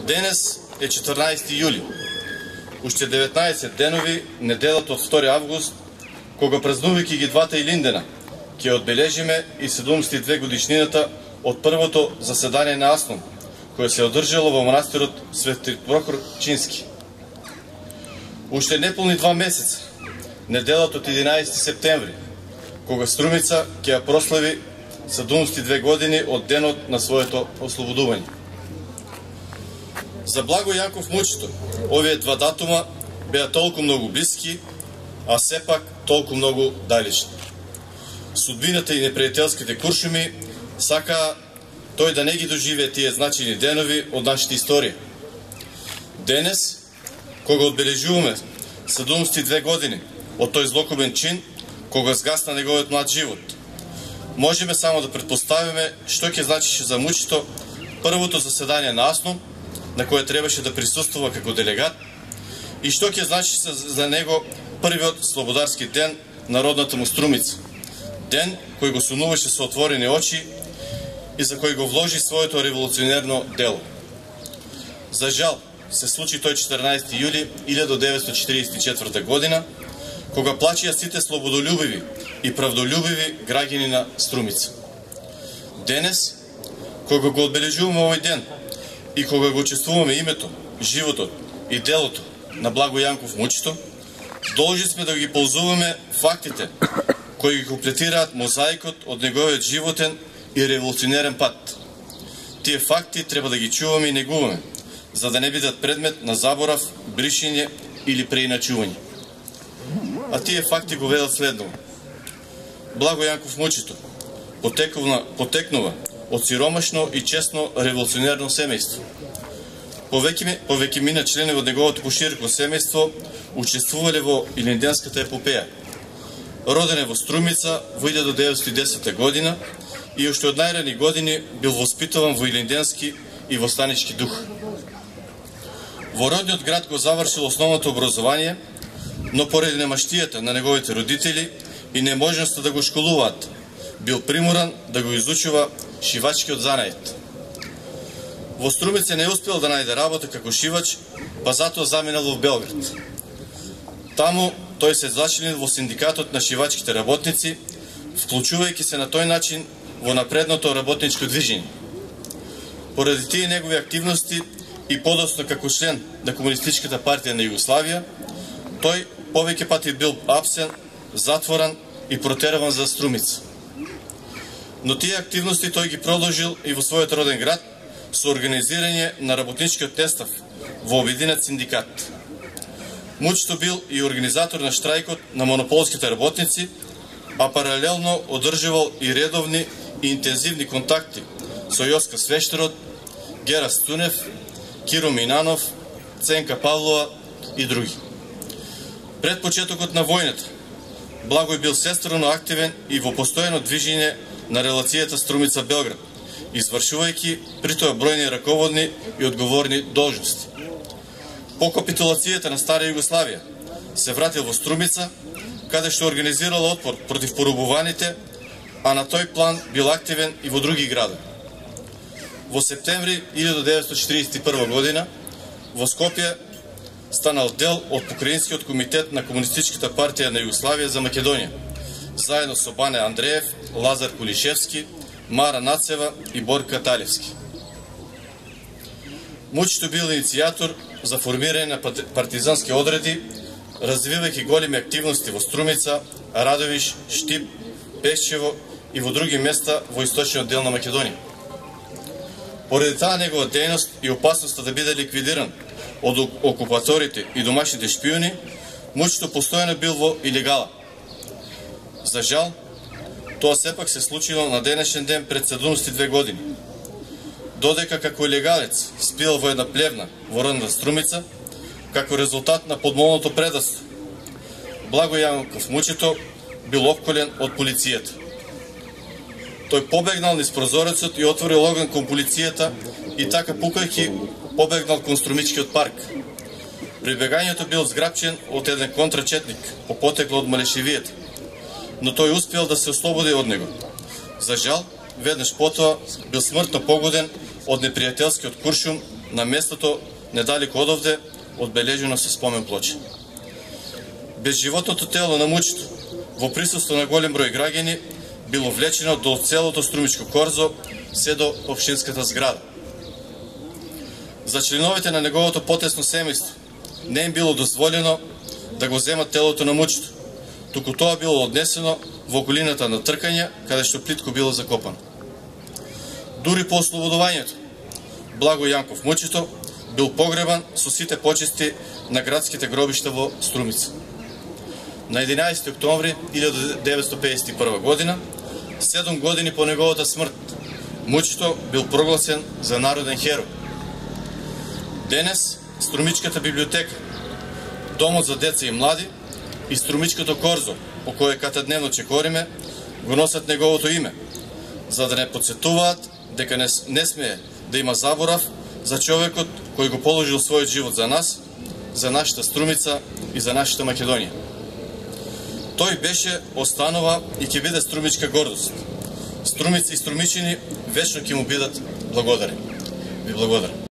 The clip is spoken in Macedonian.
Денес е 14 јули. Уште 19 денови, неделата од 2 август, кога празнувајќи ги двата Илиндена, ќе одбележиме и 72 годишнината од првото заседание на АСНОМ, кое се одржало во манастирот Свети Прохор Чински. Уште неполни 2 месеца, неделата од 11 септември, кога Струмица ќе ја прослави 72 години од денот на своето ослободување. За Благој Јанков Мучето, овие два датума беа толку многу блиски, а сепак толку многу далечни. Судбината и непријателските куршуми сакаа тој да не ги доживее тие значајни денови од нашата историја. Денес, кога одбележуваме 72 години од тој злокобен чин, кога згасна неговиот млад живот, можеме само да предпоставиме што ќе значише за Мучето првото заседание на АСНОМ, на кое требаше да присуствува како делегат, и што ќе значише за него првиот слободарски ден на родната му Струмица. Ден кој го сунуваше со отворени очи и за кој го вложи своето револуционерно дело. За жал, се случи тој 14 јули 1944 година, кога плачеа сите слободолюбиви и правдолюбиви граѓани на Струмица. Денес, кога го одбележуваме овој ден и кога го чествуваме името, животот и делото на Благој Јанков Мучето, должни сме да ги ползуваме фактите кои ги комплетираат мозаикот од неговиот животен и револуционерен пат. Тие факти треба да ги чуваме и негуваме, за да не бидат предмет на заборав, бришење или преиначување. А тие факти го ведат следново. Благој Јанков Мучето потекнува од сиромашно и честно револуционерно семејство. Повеќе мина членови од неговото пошироко семејство учествувале во Илинденската епопеја. Роден е во Струмица во 1910 година и уште од најрани години бил воспитуван во илинденски и востанички дух. Во родниот град го завршил основното образование, но поради немаштијата на неговите родители и неможноста да го школуваат, бил приморан да го изучува шивачкиот занајет. Во Струмица не успел да најде работа како шивач, па затоа заминал во Белград. Таму тој се зачленил во синдикатот на шивачките работници, вклучувајќи се на тој начин во напредното работничко движење. Поради тие негови активности и подоцна како член на Комунистичката партија на Југославија, тој повеќе пати бил апсен, затворен и протерван за Струмица. Но тие активности тој ги продолжил и во својот роден град со организирање на работничкиот нестав во обединет синдикат. Мучето бил и организатор на штрајкот на монополските работници, а паралелно одржувал и редовни и интензивни контакти со Јоска Свештерот, Гера Стунев, Киро Минанов, Ценка Павлова и други. Пред почетокот на војната, Благој бил сестрено активен и во постојано движење на релацијата Струмица-Белград, извршувајќи при тоа бројни раководни и одговорни должности. По капитулацијата на Стара Југославија се вратил во Струмица, каде што организирал отпор против порубуваните, а на тој план бил активен и во други градови. Во септември 1941 година во Скопје станал дел од Покраинскиот комитет на Комунистичката партија на Југославија за Македонија, заедно со Бане Андреев, Лазар Кулишевски, Мара Нацева и Борка Талевски. Мучето бил иницијатор за формирање на партизански одреди, развивајќи големи активности во Струмица, Радовиш, Штип, Пешчево и во други места во источниот дел на Македонија. Поради таа негова дејност и опасноста да биде ликвидиран од окупаторите и домашните шпиони, Мучето постојано бил во илегала. За жал, тоа сепак се случило на денешен ден пред 72 години. Додека како илегалец спил во една плевна во родната Струмица, како резултат на подмолното предавство, Благој Јанков Мучето бил опколен од полицијата. Тој побегнал низ прозорецот и отворил оган кон полицијата и така пукајќи побегнал кон Струмичкиот парк. При бегањето бил зграпчен од еден контрачетник по потекло од Малешевијата, но тој успел да се ослободи од него. За жал, веднаш потоа бил смртно погоден од непријателскиот куршум на местото недалеку одовде, одбележено со спомен плоча. Безживотното тело на Мучето, во присуство на голем број граѓани, било влечено до целото Струмичко корзо, се до општинската зграда. За членовите на неговото потесно семејство не им било дозволено да го земат телото на Мучето, туку тоа било однесено во околината на Тркања, каде што плитко било закопано. Дури по ослободувањето, Благо Јанков Мучето бил погребан со сите почести на градските гробишта во Струмица. На 11. октомври 1951 година, 7 години по неговата смрт, Мучето бил прогласен за народен херој. Денес Струмичката библиотека, Домот за деца и млади и Струмичкото корзо, по кое катедневно чекориме, го носат неговото име, за да не подсетуваат дека не смее да има заборав за човекот кој го положил својот живот за нас, за нашата Струмица и за нашата Македонија. Тој беше, останува и ќе биде струмичка гордост. Струмици и струмичини вечно ќе му бидат благодарени. Ви благодарам.